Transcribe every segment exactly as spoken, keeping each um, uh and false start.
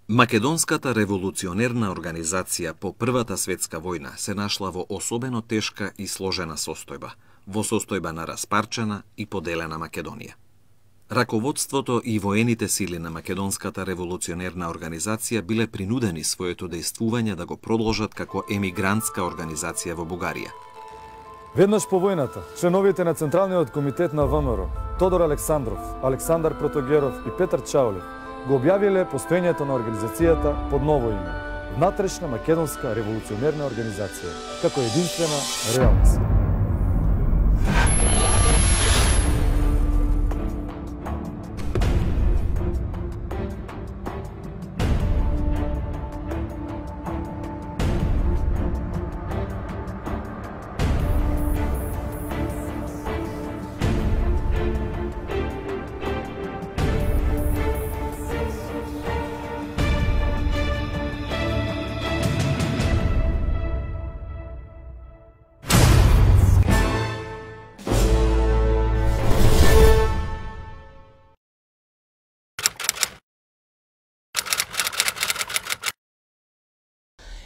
Македонската револуционерна организација по Првата светска војна се нашла во особено тешка и сложена состојба, во состојба на распарчена и поделена Македонија. Раководството и воените сили на Македонската револуционерна организација биле принудени своето дејствување да го продолжат како емигрантска организација во Бугарија. Веднаш по војната, членовите на Централниот комитет на ВМРО, Тодор Александров, Александар Протогеров и Петар Чаулев, го објавиле постоењето на организацијата под ново име – Внатрешна македонска револуционерна организација, како единствена реална сила.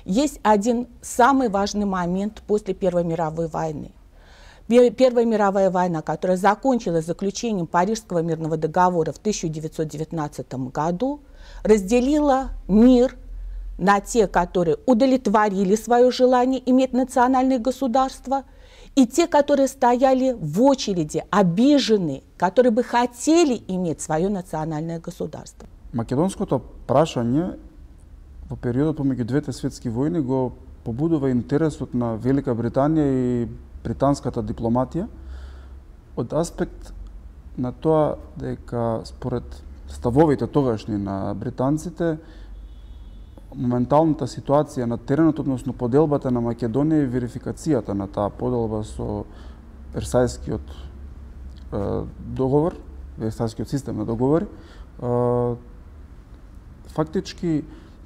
Есть один самый важный момент после Первой мировой войны. Первая мировая война, которая закончилась заключением Парижского мирного договора в тысяча девятьсот девятнадцатом году, разделила мир на те, которые удовлетворили свое желание иметь национальное государство, и те, которые стояли в очереди, обиженные, которые бы хотели иметь свое национальное государство. Македонското прашање во периодот помеѓу двете светски војни го побудува интересот на Велика Британија и британската дипломатија од аспект на тоа дека според ставовите тогашни на британците моменталната ситуација на теренот, односно поделбата на Македонија и верификацијата на таа поделба со Версајскиот е, договор, Версајскиот систем на договори, е, фактички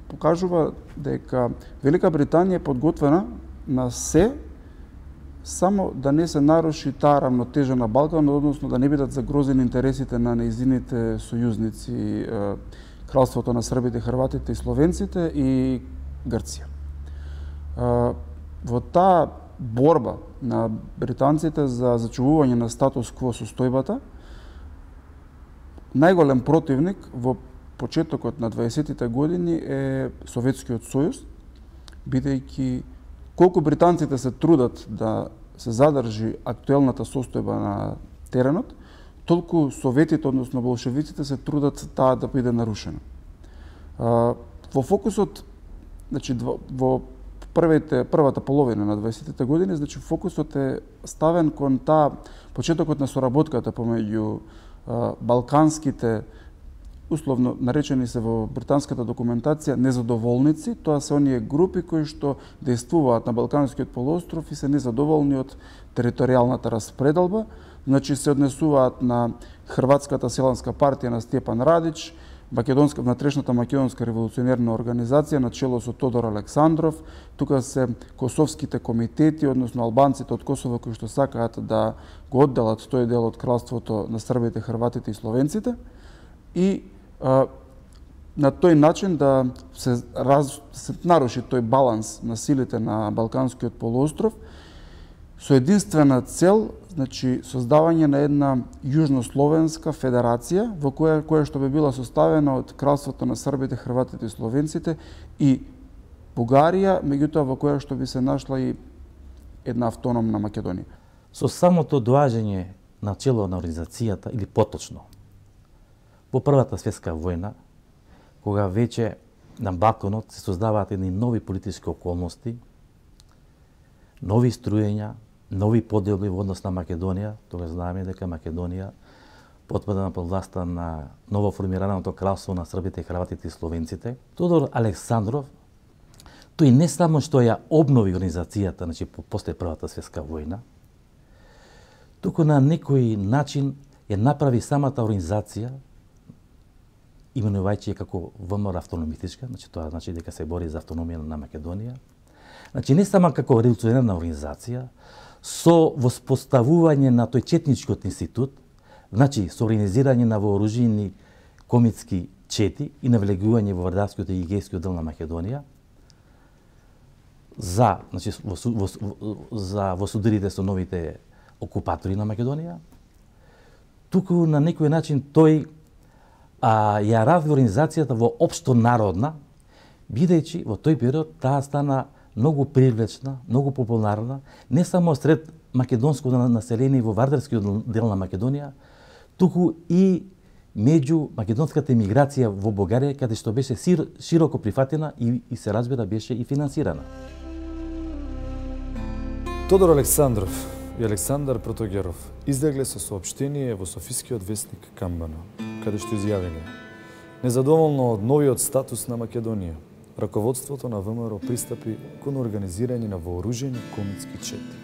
покажува дека Велика Британија е подготвена на се, само да не се наруши таа рамнотежа на Балкан, односно да не бидат загрозени интересите на нејзините сојузници, Кралството на србите, хрватите и словенците и Грција. Во таа борба на британците за зачувување на статус кво состојбата, најголем противник во почетокот на дваесеттите години е Советскиот сојуз, бидејќи колку британците се трудат да се задржи актуелната состојба на теренот, толку советите, односно болшевиците, се трудат таа да биде нарушена. Во фокусот, значи во првите првата половина на дваесеттите години, значи фокусот е ставен кон таа почетокот на соработката помеѓу балканските, условно наречени се во британската документација незадоволници, тоа се оние групи кои што дејствуваат на Балканскиот полуостров и се незадоволни од територијалната распределба, значи се однесуваат на Хрватската селанска партија на Стјепан Радич, Македонска внатрешната македонска револуционерна организација на чело со Тодор Александров, тука се косовските комитети, односно албанците од Косово кои што сакаат да го одделат тој дел од кралството на србите, хрватите и словенците, и а, на тој начин да се, раз, се наруши тој баланс на силите на Балканскиот полуостров со единствена цел, значи создавање на една јужнословенска федерација во која која што би била составена од Кралството на србите, хрватите и словенците и Бугарија, меѓутоа во која што би се нашла и една автономна Македонија. Со самото доаѓање на чело на организацијата, или поточно, по Првата светска војна, кога веќе на Балканот се создаваат едни нови политички околности, нови струјења, нови поделби во однос на Македонија, тога знаеме дека Македонија потпадна под власта на новоформираното кралство на србите, хрватите и словенците. Тодор Александров, тој не само што ја обнови организацијата, значи после Првата светска војна, туку на некој начин ја направи самата организација, именувајќи ја како ВМРО автономистичка, значи тоа значи дека се бори за автономија на Македонија. Значи не само како револуционерна организација, со воспоставување на тој четничкиот институт, значи со организирање на вооружени комитски чети и навлегување во вардарскиот и егејскиот дел на Македонија, за, значи, во, во, за во судирите со новите окупатори на Македонија, туку на некој начин тој а, ја разви организацијата во општо народна, бидејќи во тој период таа стана многу привлечна, многу популарна, не само сред македонското население во вардарскиот дел на Македонија, туку и меѓу македонската емиграција во Бугарија, каде што беше широко прифатена и, и се разбира беше и финансирана. Тодор Александров и Александар Протогеров излегле со соопштение во Софискиот вестник Камбана, каде што изјавиле: незадоволно од новиот статус на Македонија, раководството на ВМРО пристапи кон организирање на вооружени комитски чети.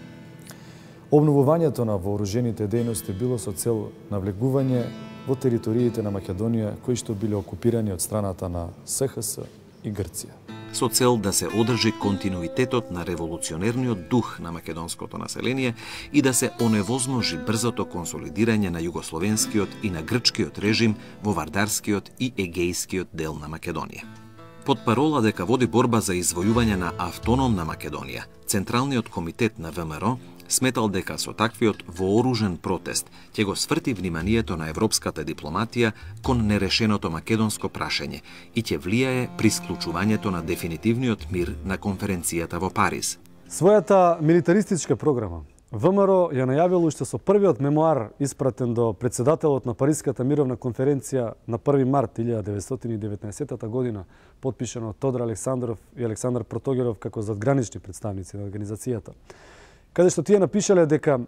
Обновувањето на вооружените дејности било со цел навлегување во териториите на Македонија кои што биле окупирани од страната на СХС и Грција. Со цел да се одржи континуитетот на револуционерниот дух на македонското население и да се оневозможи брзото консолидирање на југословенскиот и на грчкиот режим во вардарскиот и егејскиот дел на Македонија. Под парола дека води борба за извојување на автономна Македонија, Централниот комитет на ВМРО сметал дека со таквиот вооружен протест ќе го сврти вниманието на европската дипломатија кон нерешеното македонско прашање и ќе влијае при склучувањето на дефинитивниот мир на конференцијата во Париз. Својата милитаристичка програма ВМРО ја најавил уште со првиот мемуар испратен до председателот на Париската мировна конференција на први март илјада деветстотини и деветнаесетта година, подпишано од Тодор Александров и Александар Протогеров како задгранични представници на организацијата, каде што тие напишале дека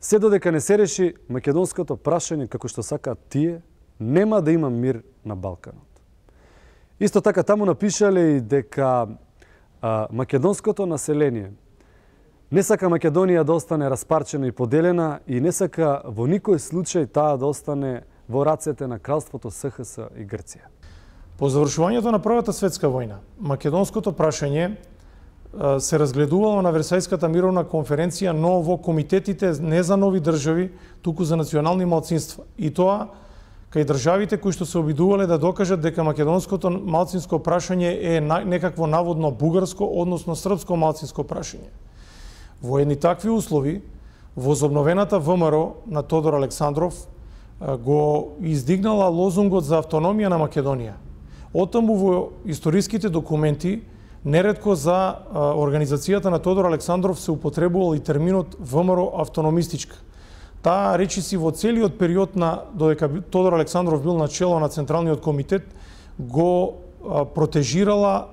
се додека не се реши македонското прашање како што сакаат тие, нема да има мир на Балканот. Исто така таму напишале и дека а, македонското население не сака Македонија да остане распарчена и поделена и не сака во никој случај таа да остане во рацете на кралството СХС и Грција. По завршувањето на Првата светска војна, македонското прашање се разгледувало на Версајската мировна конференција, но во комитетите не за нови држави, туку за национални малцинства. И тоа кај државите кои што се обидувале да докажат дека македонското малцинско прашање е некакво наводно бугарско, односно српско малцинско прашање. Во едни такви услови, возобновената ВМРО на Тодор Александров го издигнала лозунгот за автономија на Македонија. Оттаму во историските документи неретко за организацијата на Тодор Александров се употребувал и терминот ВМРО автономистичка. Таа речиси во целиот период на додека Тодор Александров бил на чело на Централниот комитет го протежирала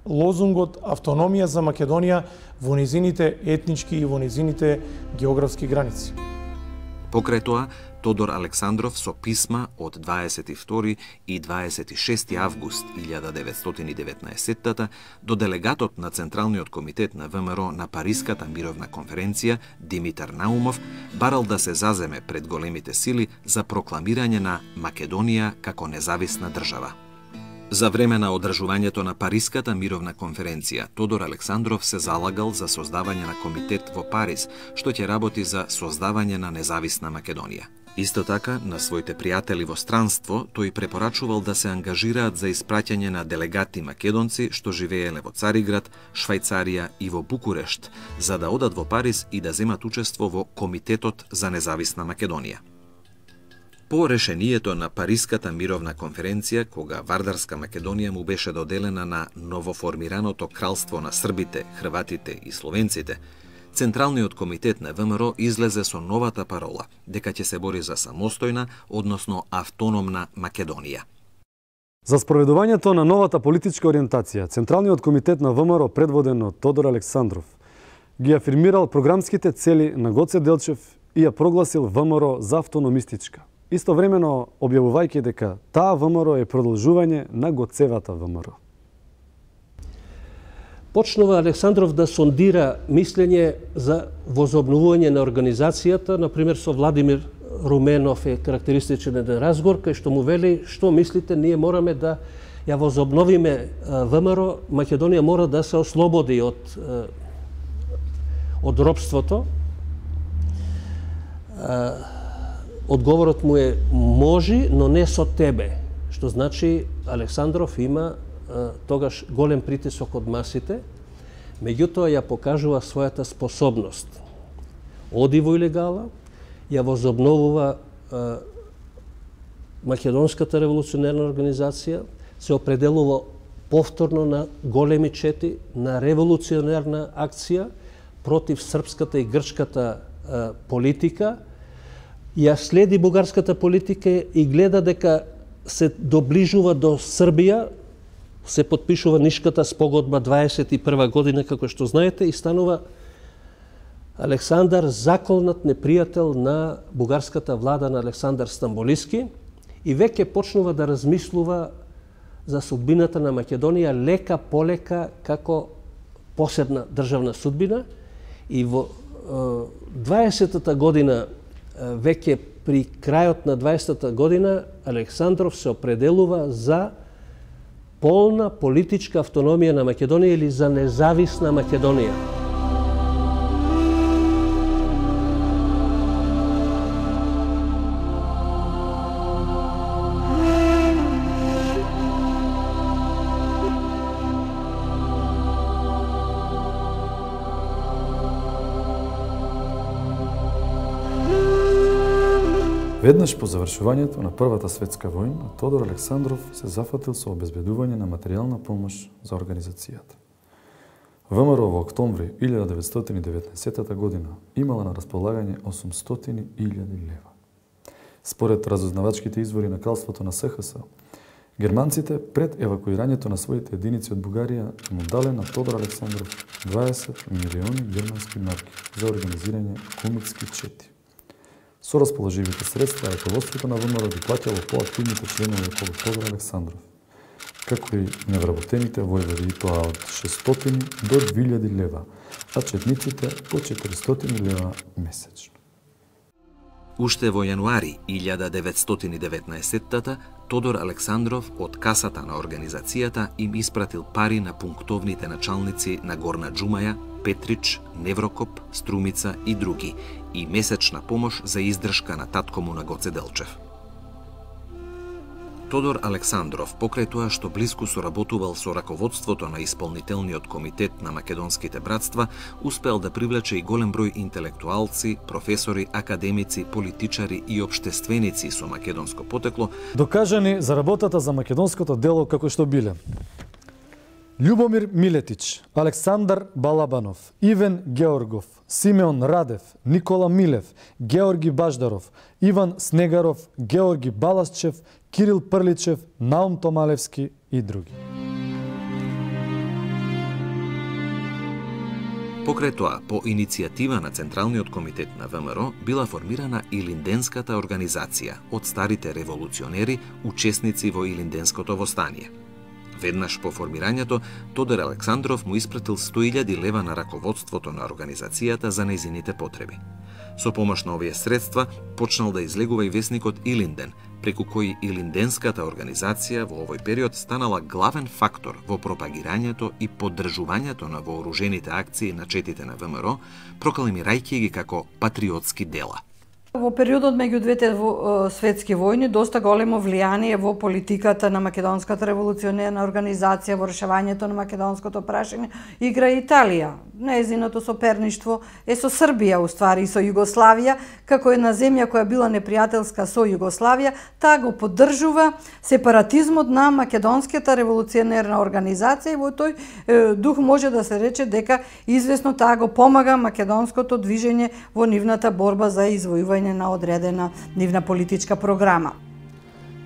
лозунгот автономија за Македонија во низините етнички и во низините географски граници. Покрај тоа, Тодор Александров со писма од дваесет и втори и дваесет и шести август илјада деветстотини и деветнаесетта до делегатот на Централниот комитет на ВМРО на Париската мировна конференција Димитар Наумов барал да се заземе пред големите сили за прокламирање на Македонија како независна држава. За време на одржувањето на Париската мировна конференција, Тодор Александров се залагал за создавање на комитет во Париз, што ќе работи за создавање на независна Македонија. Исто така, на своите пријатели во странство, тој препорачувал да се ангажираат за испраќање на делегати македонци што живееле во Цариград, Швајцарија и во Букурешт, за да одат во Париз и да земат учество во Комитетот за независна Македонија. По решението на Париската мировна конференција, кога Вардарска Македонија му беше доделена на новоформираното кралство на србите, хрватите и словенците, Централниот комитет на ВМРО излезе со новата парола дека ќе се бори за самостојна, односно автономна Македонија. За спроведувањето на новата политичка ориентација, Централниот комитет на ВМРО, предводен од Тодор Александров, ги афирмирал програмските цели на Гоце Делчев и ја прогласил ВМРО за автономистичка. Истовремено објавувајќи дека таа ВМРО е продолжување на Гоцевата ВМРО. Почнува Александров да сондира мислење за возобновување на организацијата, например со Владимир Руменов е карактеристичен еден разговор, кај што му вели: што мислите, ние мораме да ја возобновиме ВМРО, Македонија мора да се ослободи од, од робството. Одговорот му е: можи, но не со тебе. што значи Александров има тогаш голем притисок од масите, меѓутоа ја покажува својата способност. Оди во илегала, ја возобновува а, Македонската револуционерна организација, се определува повторно на големи чети, на револуционерна акција против српската и грчката а, политика, ја следи бугарската политика и гледа дека се доближува до Србија, се подпишува Нишката спогодба дваесет и прва година, како што знаете, и станува Александар заколнат непријател на бугарската влада на Александар Стамболиски и веќе почнува да размислува за судбината на Македонија лека полека како посебна државна судбина и во дваесетата година, веќе при крајот на дваесетата година, Александров се определува за полна политичка автономија на Македонија или за независна Македонија. Веднаш по завршувањето на Првата светска војна, Тодор Александров се зафатил со обезбедување на материјална помош за организацијата. ВМРО во октомври илјада деветстотини и деветнаесетта година имала на располагање осумстотини илјади лева. Според разузнавачките извори на кралството на СХС, германците пред евакуирањето на своите единици од Бугарија му дале на Тодор Александров дваесет милиони германски марки за организирање кумитски чети. Со расположивите средства, раководството на ВМРО ги плаќало поактивните членови околу Тодор Александров, како и невработените војводи, и тоа од шестстотини до две илјади лева, а четниците по четиристотини лева месечно. Уште во јануари илјада деветстотини и деветнаесетта Тодор Александров од касата на организацијата им испратил пари на пунктовните началници на Горна Џумаја, Петрич, Неврокоп, Струмица и други, и месечна помош за издршка на татко му на Гоце Делчев. Тодор Александров, покрај тоа што блиску соработувал со раководството на Исполнителниот комитет на македонските братства, успел да привлече и голем број интелектуалци, професори, академици, политичари и општественици со македонско потекло, докажани за работата за македонското дело како што биле Љубомир Милетич, Александар Балабанов, Ивен Георгов, Симеон Радев, Никола Милев, Георги Баждаров, Иван Снегаров, Георги Баласчев, Кирил Прличев, Наум Томалевски и други. Покрај тоа, по иницијатива на Централниот комитет на ВМРО била формирана Илинденската организација од старите револуционери, учесници во Илинденското востание. Веднаш по формирањето, Тодор Александров му испратил сто илјади лева на раководството на организацијата за нејзините потреби. Со помош на овие средства почнал да излегува и весникот Илинден, преку кој Илинденската организација во овој период станала главен фактор во пропагирањето и поддржувањето на вооружените акции на четите на ВМРО, прокламирајќи ги како патриотски дела. Во периодот меѓу двете светски војни доста големо влијание во политиката на Македонската револуционерна организација во решавањето на македонското прашање игра Италија. Нејзиното соперништво е со Србија, уствари и со Југославија, како една земја која била непријателска со Југославија, таа го поддржува сепаратизмот на Македонската револуционерна организација и во тој е, дух може да се рече дека извесно таа го помага македонското движење во нивната борба за извојување на одредена нивна политичка програма.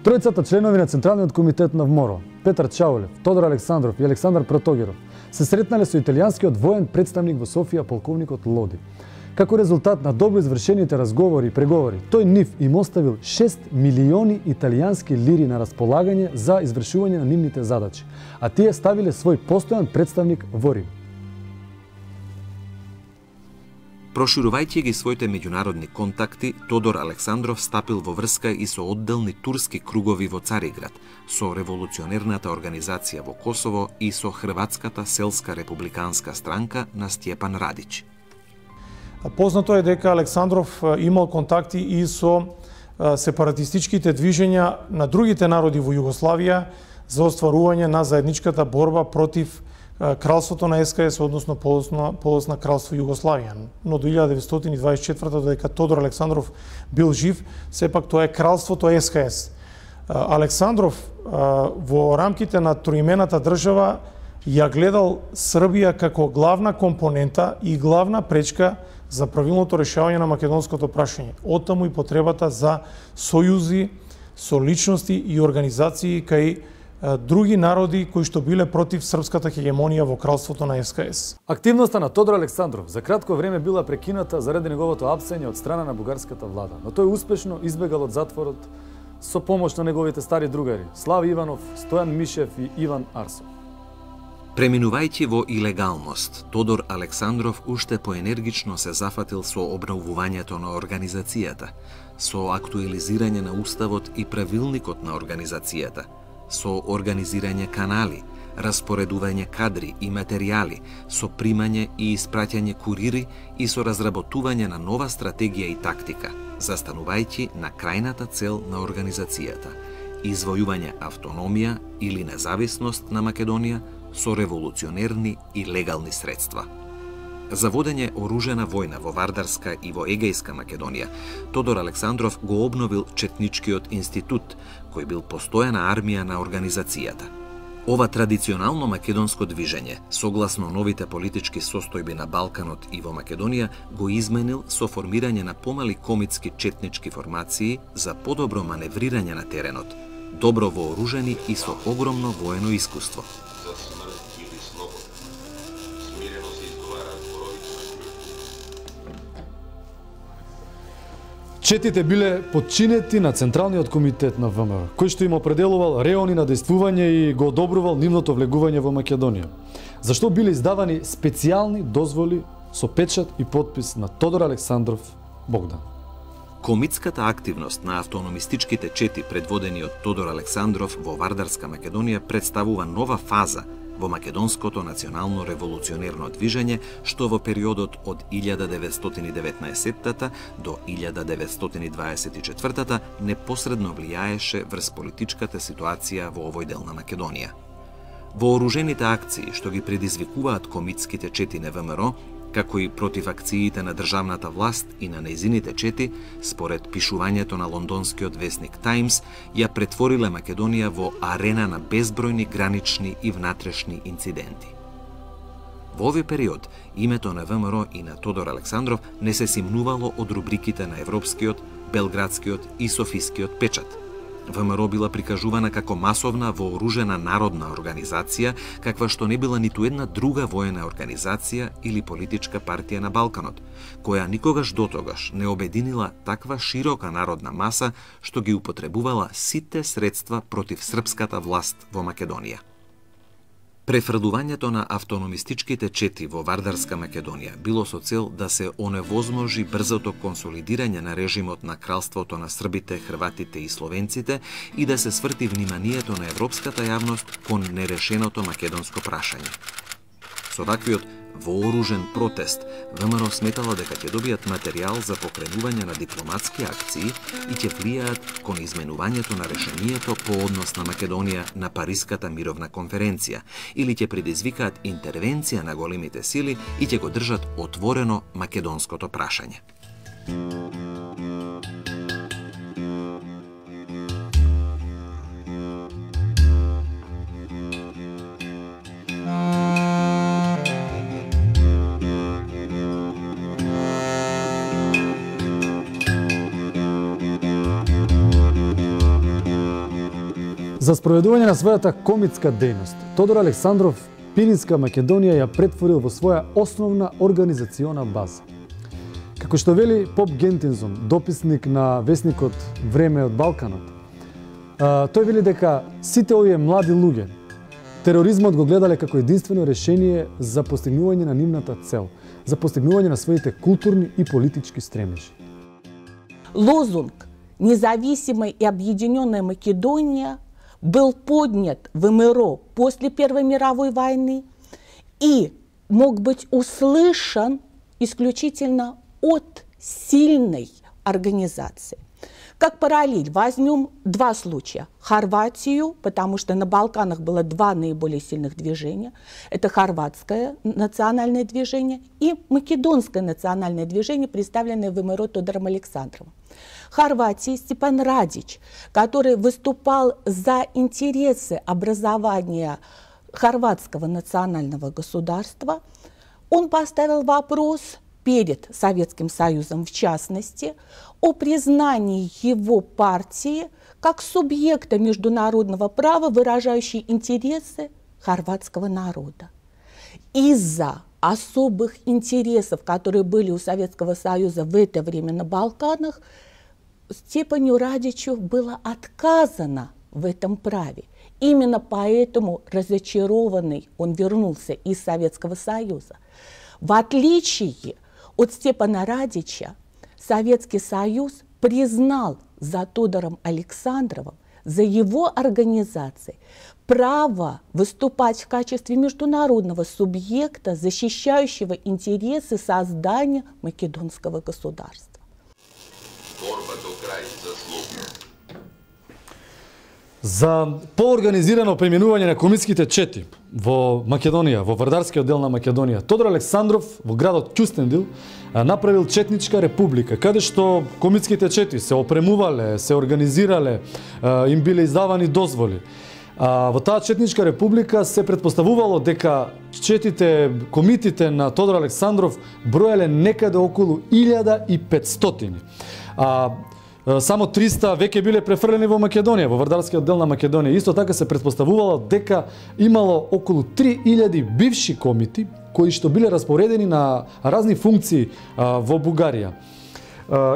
Тројцата членови на Централниот комитет на ВМРО, Петар Чаулев, Тодор Александров и Александар Протогеров, се сретнале со италијанскиот воен представник во Софија, полковникот Лоди. Како резултат на добро извршените разговори и преговори, тој нив им оставил шест милиони италијански лири на располагање за извршување на нивните задачи, а тие ставиле свој постојан представник во Рим. Проширувајќи ги своите меѓународни контакти, Тодор Александров стапил во врска и со одделни турски кругови во Цариград, со револуционерната организација во Косово и со Хрватската селска републиканска странка на Стјепан Радиć. Познато е дека Александров имал контакти и со сепаратистичките движења на другите народи во Југославија за остварување на заедничката борба против кралството на ес ка ес, односно полосно, полосно кралство Југославија. Но до илјада деветстотини дваесет и четврта, додека Тодор Александров бил жив, сепак тоа е кралството ес ка ес. Александров во рамките на троимената држава ја гледал Србија како главна компонента и главна пречка за правилното решавање на македонското прашање. Оттаму и потребата за сојузи со личности и организации кај други народи кои што биле против српската хегемонија во кралството на ес ка ес. Активноста на Тодор Александров за кратко време била прекината заради неговото апсење од страна на бугарската влада, но тој успешно избегал од затворот со помош на неговите стари другари Слави Иванов, Стојан Мишев и Иван Арсов. Преминувајќи во илегалност, Тодор Александров уште поенергично се зафатил со обновувањето на организацијата, со актуализирање на уставот и правилникот на организацијата, со организирање канали, распоредување кадри и материјали, со примање и испраќање курири и со разработување на нова стратегија и тактика, застанувајќи на крајната цел на организацијата – извојување автономија или независност на Македонија со револуционерни и легални средства. За водење оружена војна во Вардарска и во Егејска Македонија, Тодор Александров го обновил Четничкиот институт, кој бил постојана армија на организацијата. Ова традиционално македонско движење, согласно новите политички состојби на Балканот и во Македонија, го изменил со формирање на помали комитски четнички формации за подобро маневрирање на теренот, добро вооружени и со огромно воено искуство. Четите биле подчинети на Централниот комитет на Вэ Ем Р, кој што им определувал реони на дејствување и го одобрувал нивното влегување во Македонија. Зашто биле издавани специјални дозволи со печат и подпис на Тодор Александров Богдан. Комитската активност на автономистичките чети предводени од Тодор Александров во Вардарска Македонија представува нова фаза во македонското национално револуционерно движење, што во периодот од илјада деветстотини деветнаесеттата до илјада деветстотини дваесет и четвртата непосредно влијаеше врз политичката ситуација во овој дел на Македонија. Вооружените акции што ги предизвикуваат комитските чети на Вэ Ем Р, како и против акциите на државната власт и на нејзините чети, според пишувањето на лондонскиот весник Таймс, ја претвориле Македонија во арена на безбројни гранични и внатрешни инциденти. Во овој период, името на Вэ Ем Р и на Тодор Александров не се симнувало од рубриките на Европскиот, Белградскиот и Софискиот печат. Вэ Ем Р била прикажувана како масовна вооружена народна организација, каква што не била ниту една друга воена организација или политичка партија на Балканот, која никогаш дотогаш не обединила таква широка народна маса што ги употребувала сите средства против српската власт во Македонија. Префрдувањето на автономистичките чети во Вардарска Македонија било со цел да се оневозможи брзото консолидирање на режимот на кралството на србите, хрватите и словенците и да се сврти вниманието на европската јавност кон нерешеното македонско прашање. Со таквиот вооружен протест, Вэ Ем Р сметала дека ќе добијат материјал за покренување на дипломатски акции и ќе влијаат кон изменувањето на решението по однос на Македонија на Париската мировна конференција или ќе предизвикаат интервенција на големите сили и ќе го држат отворено македонското прашање. За спроведување на својата комитска дејност, Тодор Александров Пиринска Македонија ја претворил во своја основна организациона база. Како што вели Поп Гентинзон, дописник на весникот Време од Балканот, тој вели дека сите овие млади луѓе тероризмот го гледале како единствено решение за постигнување на нивната цел, за постигнување на своите културни и политички стремежи. Лозунг «Независимая и объединенная Македония» был поднят в Вэ Эм Р после Первой мировой войны и мог быть услышан исключительно от сильной организации, Как параллель возьмем два случая. Хорватию, потому что на Балканах было два наиболее сильных движения. Это хорватское национальное движение и македонское национальное движение, представленное в МРО Тодором Александровым. В Хорватии Степан Радич, который выступал за интересы образования хорватского национального государства, он поставил вопрос перед Советским Союзом, в частности, о признании его партии как субъекта международного права, выражающей интересы хорватского народа. Из-за особых интересов, которые были у Советского Союза в это время на Балканах, Степану Радичу было отказано в этом праве. Именно поэтому разочарованный он вернулся из Советского Союза. В отличие от Степана Радича, Советский Союз признал за Тодором Александровым, за его организацией, право выступать в качестве международного субъекта, защищающего интересы создания македонского государства. Борба до крај за слобода. За поорганизирано преминување на комитските чети во Македонија, во Вардарскиот дел на Македонија, Тодор Александров во градот Кюстендил направил четничка република, каде што комитските чети се опремувале, се организирале, им биле издавани дозволи. Во таа четничка република се претпоставувало дека четите комитите на Тодор Александров броеле некаде околу илјада и петстотини. А само триста веќе биле префрлени во Македонија, во Вардарскиот дел на Македонија. Исто така се претпоставувало дека имало околу три илјади бивши комити кои што биле распоредени на разни функции во Бугарија.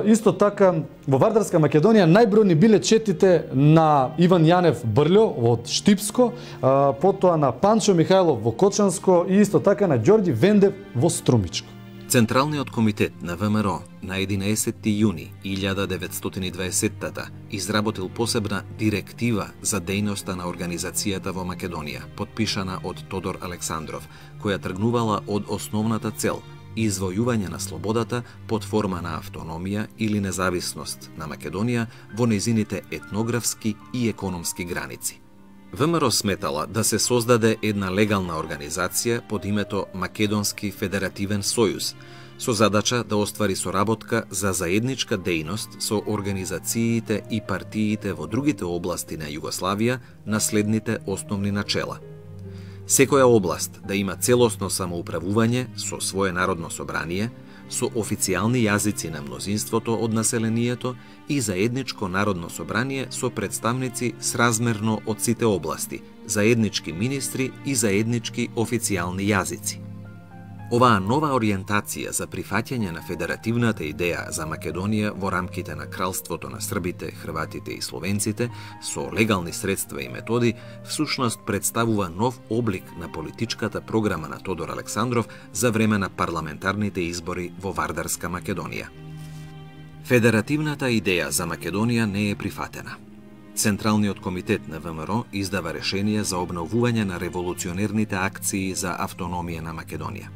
Исто така во Вардарска Македонија најбројни биле четите на Иван Јанев Брлјо од Штипско, потоа на Панчо Михајлов во Кочанско и исто така на Ѓорѓи Вендев во Струмичко. Централниот комитет на ВМРО на единаесетти јуни илјада деветстотини и дваесеттата изработил посебна директива за дејноста на организацијата во Македонија, подпишана од Тодор Александров, која тргнувала од основната цел извојување на слободата под форма на автономија или независност на Македонија во нејзините етнографски и економски граници. ВМРО сметала да се создаде една легална организација под името Македонски федеративен сојуз, со задача да оствари соработка за заедничка дејност со организациите и партиите во другите области на Југославија на следните основни начела. Секоја област да има целосно самоуправување со свое народно собрание, со официјални јазици на мнозинството од населението и заедничко народно собрание со представници сразмерно од сите области, заеднички министри и заеднички официјални јазици. Оваа нова ориентација за прифаќање на федеративната идеја за Македонија во рамките на кралството на србите, хрватите и словенците со легални средства и методи всушност представува нов облик на политичката програма на Тодор Александров за време на парламентарните избори во Вардарска Македонија. Федеративната идеја за Македонија не е прифатена. Централниот комитет на ВМРО издава решение за обновување на револуционерните акции за автономија на Македонија.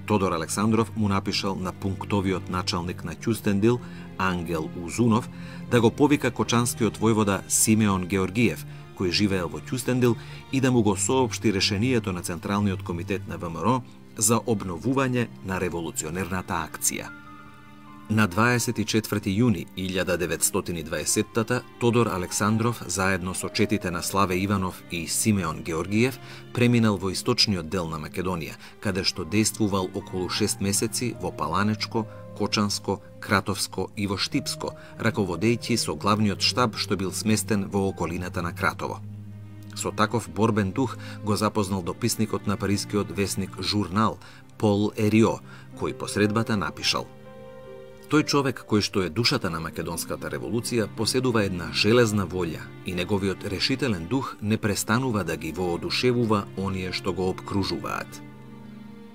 Тодор Александров му напишал на пунктовиот началник на Кюстендил, Ангел Узунов, да го повика кочанскиот војвода Симеон Георгиев, кој живеел во Кюстендил, и да му го соопшти решението на Централниот комитет на ВМРО за обновување на револуционерната акција. На дваесет и четврти јуни илјада деветстотини и дваесеттата Тодор Александров заедно со четите на Славе Иванов и Симеон Георгиев преминал во источниот дел на Македонија, каде што действувал околу шест месеци во Паланечко, Кочанско, Кратовско и во Штипско, раководејќи со главниот штаб што бил сместен во околината на Кратово. Со таков борбен дух го запознал дописникот на парискиот весник Журнал Пол Ерио, кој посредбата напишал: тој човек кој што е душата на македонската револуција поседува една железна волја и неговиот решителен дух не престанува да ги воодушевува оние што го обкружуваат.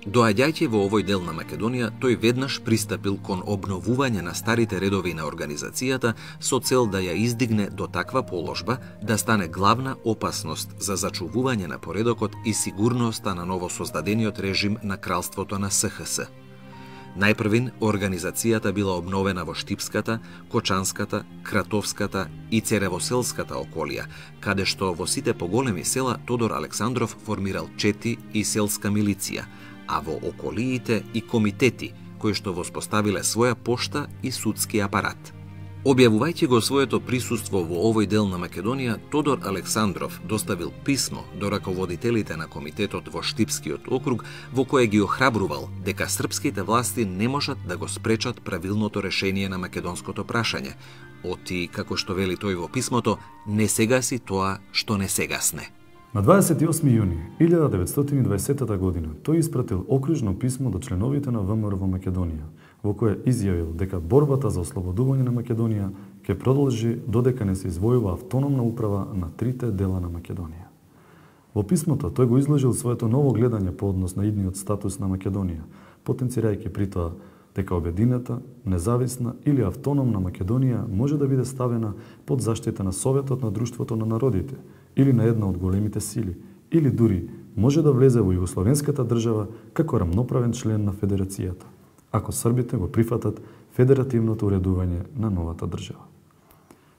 Доаѓајќи во овој дел на Македонија, тој веднаш пристапил кон обновување на старите редови на организацијата со цел да ја издигне до таква положба да стане главна опасност за зачувување на поредокот и сигурноста на новосоздадениот режим на кралството на СХС. Најпрвин, организацијата била обновена во Штипската, Кочанската, Кратовската и Церевоселската околија, каде што во сите поголеми села Тодор Александров формирал чети и селска милиција, а во околиите и комитети, кои што воспоставиле своја пошта и судски апарат. Објавувајќи го своето присуство во овој дел на Македонија, Тодор Александров доставил писмо до раководителите на комитетот во Штипскиот округ, во кое ги охрабрувал дека српските власти не можат да го спречат правилното решение на македонското прашање, оти, како што вели тој во писмото, не сегаси тоа што не сегасне. На дваесет и осми јуни илјада деветстотини и дваесета година тој испратил окружно писмо до членовите на ВМРО во Македонија, во кое изјавил дека борбата за ослободување на Македонија ќе продолжи додека не се извојува автономна управа на трите дела на Македонија. Во писмото тој го изложил своето ново гледање по однос на идниот статус на Македонија, потенцирајќи при тоа дека обединета, независна или автономна Македонија може да биде ставена под заштита на Советот на Друштвото на народите или на една од големите сили, или дури може да влезе во Југословенската држава како рамноправен член на Федерацијата, ако србите го прифатат федеративното уредување на новата држава.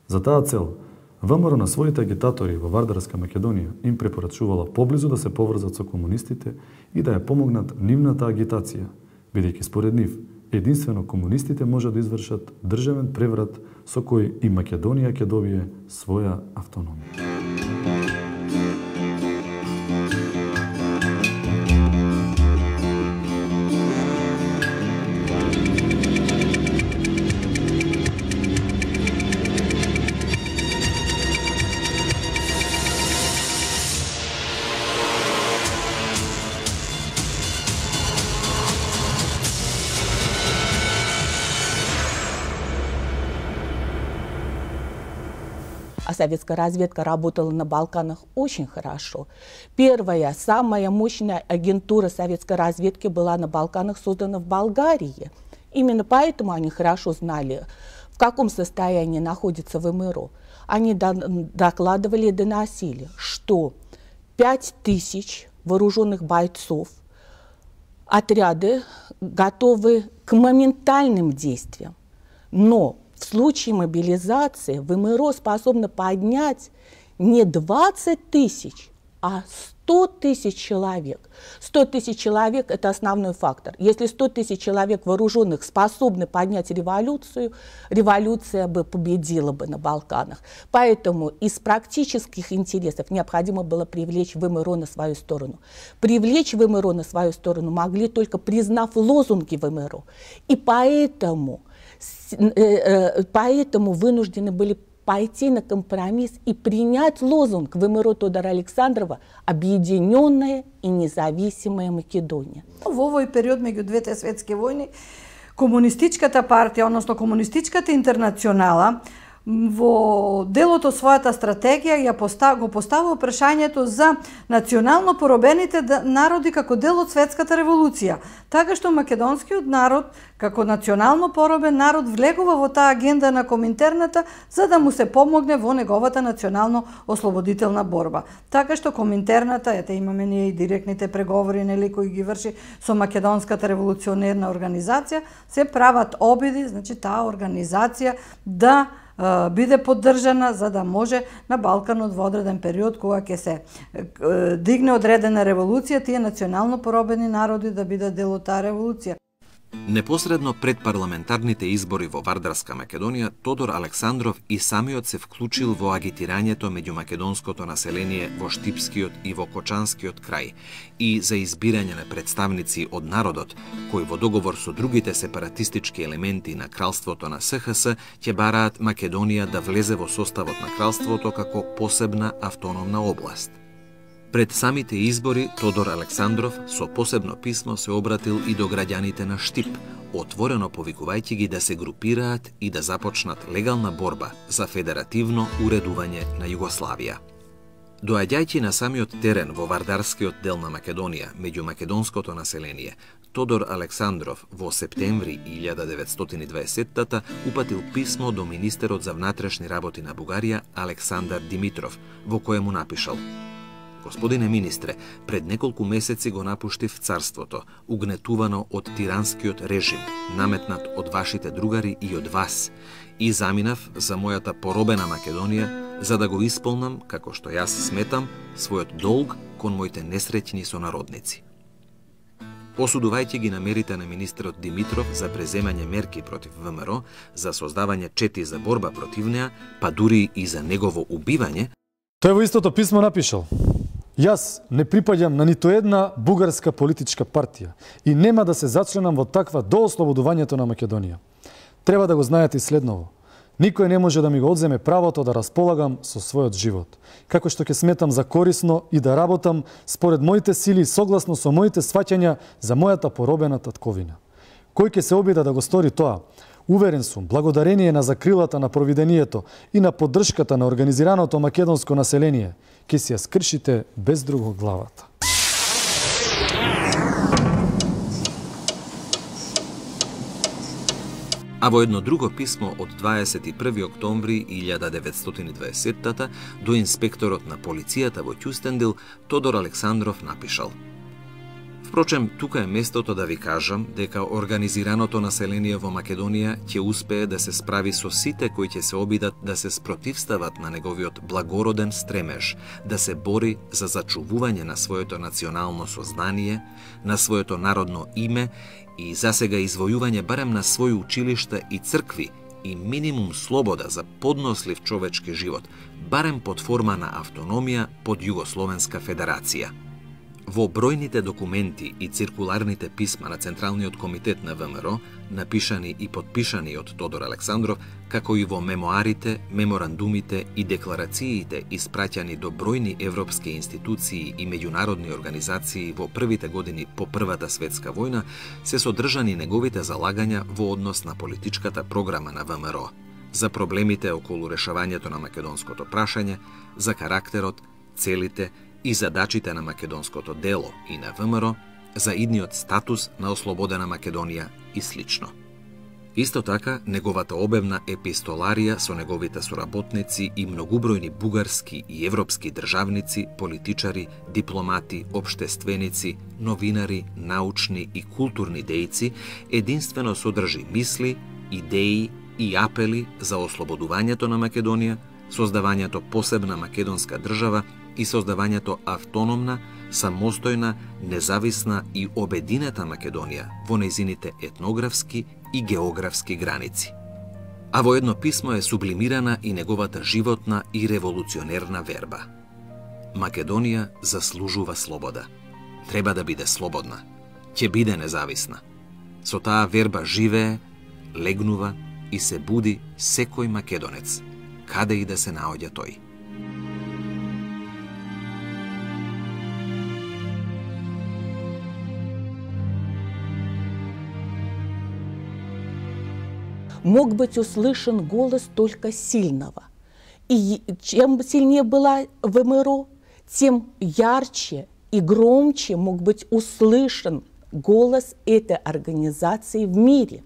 За таа цел, ВМРО на своите агитатори во Вардарска Македонија им препорачувала поблизу да се поврзат со комунистите и да ја помогнат нивната агитација, бидејќи според нив, единствено комунистите може да извршат државен преврат со кој и Македонија ќе добие своја автономија. А советская разведка работала на Балканах очень хорошо. Первая, самая мощная агентура советской разведки была на Балканах создана в Болгарии. Именно поэтому они хорошо знали, в каком состоянии находится ВМРО. Они докладывали и доносили, что пять тысяч вооруженных бойцов, отряды готовы к моментальным действиям. Но в случае мобилизации ВМРО способно поднять не двадцать тысяч, а сто тысяч человек. сто тысяч человек – это основной фактор. Если сто тысяч человек вооруженных способны поднять революцию, революция бы победила бы на Балканах. Поэтому из практических интересов необходимо было привлечь ВМРО на свою сторону. Привлечь ВМРО на свою сторону могли только признав лозунги ВМРО. И поэтому... Поэтому вынуждены были пойти на компромисс и принять лозунг ВМРО Тодора Александрова «Объединенная и независимая Македонија». Во овој период меѓу двете светски војни, комунистичката партија, односно комунистичката интернационала, во делото својата стратегија ја постав, го поставува прашањето за национално поробените народи како дел од светската револуција, така што македонскиот народ како национално поробен народ влегува во таа агенда на Коминтерната за да му се помогне во неговата национално ослободителна борба. Така што Коминтерната, ете имаме ние и директните преговори нели кои ги врши со македонската револуционерна организација, се прават обиди, значи таа организација да биде поддржана за да може на Балканот во одреден период кога ќе се дигне одредена револуција, тие национално поробени народи да бидат дел од таа револуција. Непосредно пред парламентарните избори во Вардарска Македонија, Тодор Александров и самиот се вклучил во агитирањето меѓу македонското население во Штипскиот и во Кочанскиот крај и за избирање на представници од народот, кои во договор со другите сепаратистички елементи на кралството на СХС ќе бараат Македонија да влезе во составот на кралството како посебна автономна област. Пред самите избори, Тодор Александров со посебно писмо се обратил и до граѓаните на Штип, отворено повикувајќи ги да се групираат и да започнат легална борба за федеративно уредување на Југославија. Доаѓајќи на самиот терен во Вардарскиот дел на Македонија, меѓу македонското население, Тодор Александров во септември илјада деветстотини и дваесеттата упатил писмо до министерот за внатрешни работи на Бугарија Александар Димитров, во кое му напишал: Господине министре, пред неколку месеци го напуштив царството, угнетувано од тиранскиот режим, наметнат од вашите другари и од вас, и заминав за мојата поробена Македонија, за да го исполнам, како што јас сметам, својот долг кон моите несреќни сонародници. Осудувајќи ги намерите на министерот Димитров за преземање мерки против ВМРО, за создавање чети за борба против неа, па дури и за негово убивање, тој во истото писмо напишал: Јас не припаѓам на ниту една бугарска политичка партија и нема да се зачленам во таква до ослободувањето на Македонија. Треба да го знаете и следново. Никој не може да ми го одземе правото да располагам со својот живот, како што ќе сметам за корисно и да работам според моите сили согласно со моите сваќања за мојата поробена татковина. Кој ќе се обида да го стори тоа? Уверен сум, благодарение на закрилата на провидението и на поддршката на организираното македонско население, ќе си ја скршите без друго главата. А во едно друго писмо од дваесет и први октомври илјада деветстотини и дваесеттата до инспекторот на полицијата во Ќустендил, Тодор Александров напишал: Впрочем, тука е местото да ви кажам дека организираното население во Македонија ќе успее да се справи со сите кои ќе се обидат да се спротивстават на неговиот благороден стремеж, да се бори за зачувување на своето национално сознание, на своето народно име и засега извојување барем на своји училишта и цркви и минимум слобода за поднослив човечки живот, барем под форма на автономија под Југословенска федерација. Во бројните документи и циркуларните писма на Централниот комитет на ВМРО, напишани и подпишани од Тодор Александров, како и во мемоарите, меморандумите и декларациите испраќани до бројни европски институции и меѓународни организации во првите години по Првата светска војна, се содржани неговите залагања во однос на политичката програма на ВМРО, за проблемите околу решавањето на македонското прашање, за карактерот, целите и задачите на македонското дело и на ВМРО, за идниот статус на ослободена Македонија и слично. Исто така, неговата обемна епистоларија со неговите соработници и многубројни бугарски и европски државници, политичари, дипломати, општественици, новинари, научни и културни дејци единствено содржи мисли, идеи и апели за ослободувањето на Македонија, создавањето посебна македонска држава и создавањето автономна, самостојна, независна и обединета Македонија во нејзините етнографски и географски граници. А во едно писмо е сублимирана и неговата животна и револуционерна верба. Македонија заслужува слобода. Треба да биде слободна. Ќе биде независна. Со таа верба живее, легнува и се буди секој македонец, каде и да се наоѓа тој. Мог быть услышан голос только сильного. И чем сильнее была ВМРО, тем ярче и громче мог быть услышан голос этой организации в мире.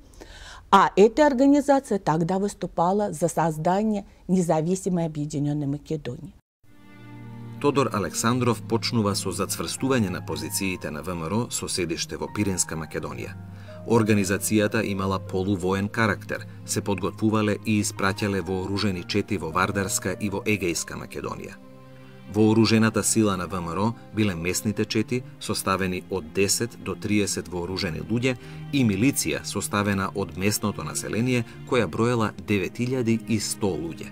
А эта организация тогда выступала за создание независимой объединенной Македонии. Тодор Александров почнува со зацврстување на позициите на ВМРО со седиште во Пиринска Македонија. Организацијата имала полувоен карактер, се подготвувале и испраќале вооружени чети во Вардарска и во Егејска Македонија. Вооружената сила на ВМРО биле местните чети, составени од десет до триесет вооружени луѓе, и милиција составена од местното население, која броела девет илјади и сто луѓе.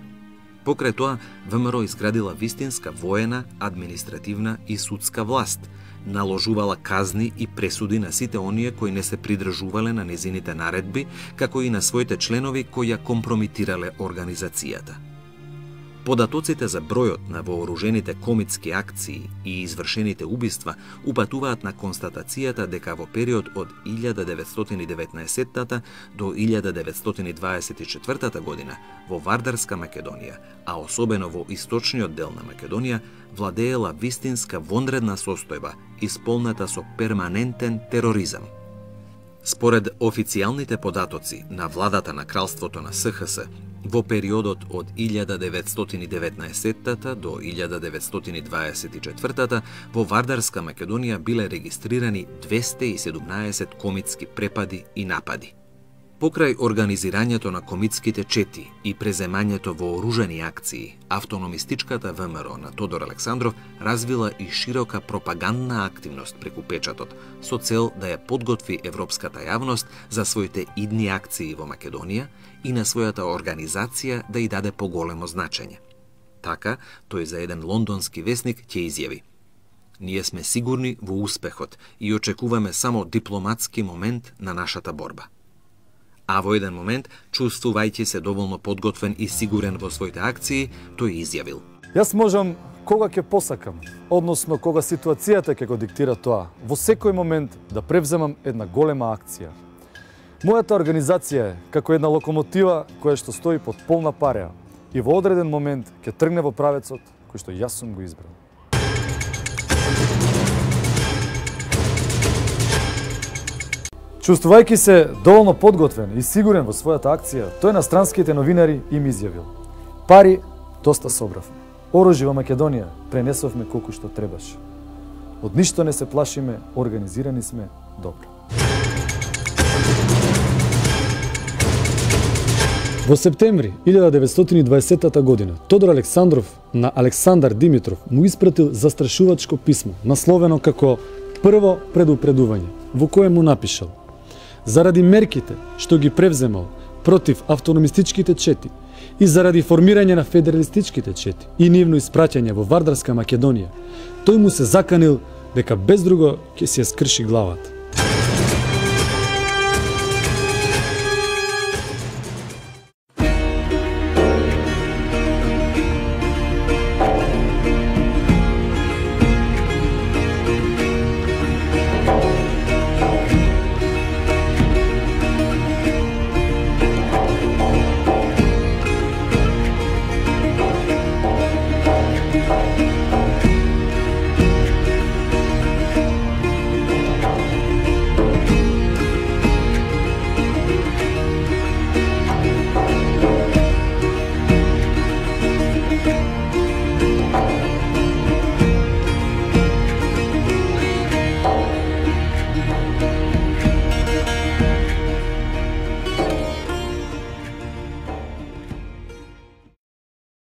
Покрај тоа, ВМРО изградила вистинска воена, административна и судска власт, наложувала казни и пресуди на сите оние кои не се придржувале на незините наредби, како и на своите членови кои ја компромитирале организацијата. Податоците за бројот на вооружените комитски акции и извршените убиства упатуваат на констатацијата дека во период од илјада деветстотини и деветнаесеттата до илјада деветстотини дваесет и четвртата година во Вардарска Македонија, а особено во источниот дел на Македонија, владеела вистинска вонредна состојба, исполнета со перманентен тероризам. Според официјалните податоци на владата на кралството на С Х С, во периодот од илјада деветстотини и деветнаесеттата до илјада деветстотини и дваесет и четвртата во Вардарска Македонија биле регистрирани двесте и седумнаесет комитски препади и напади. Покрај организирањето на комитските чети и преземањето во оружени акции, автономистичката В М Р на Тодор Александров развила и широка пропагандна активност преку печатот, со цел да ја подготви европската јавност за своите идни акции во Македонија и на својата организација да ја даде поголемо значење. Така, тој за еден лондонски весник ќе изјави: "Ние сме сигурни во успехот и очекуваме само дипломатски момент на нашата борба." А во еден момент, чувствувајќи се доволно подготвен и сигурен во своите акции, тој изјавил: Јас можам кога ќе посакам, односно кога ситуацијата ќе го диктира тоа, во секој момент да превземам една голема акција. Мојата организација е како една локомотива која што стои под полна пареа и во одреден момент ќе тргне во правецот кој што јас сум го избрал. Чувствувајќи се доволно подготвен и сигурен во својата акција, тој на странските новинари им изјавил: "Пари доста собравме. Оружје во Македонија пренесовме колку што требаше. Од ништо не се плашиме, организирани сме добро." Во септември илјада деветстотини и дваесеттата година Тодор Александров на Александар Димитров му испратил застрашувачко писмо, насловено како "Прво предупредување", во кое му напишал: "Заради мерките што ги превземал против автономистичките чети и заради формирање на федералистичките чети и нивно испраќање во Вардарска Македонија, тој му се заканил дека без друго ќе си ја скрши главата."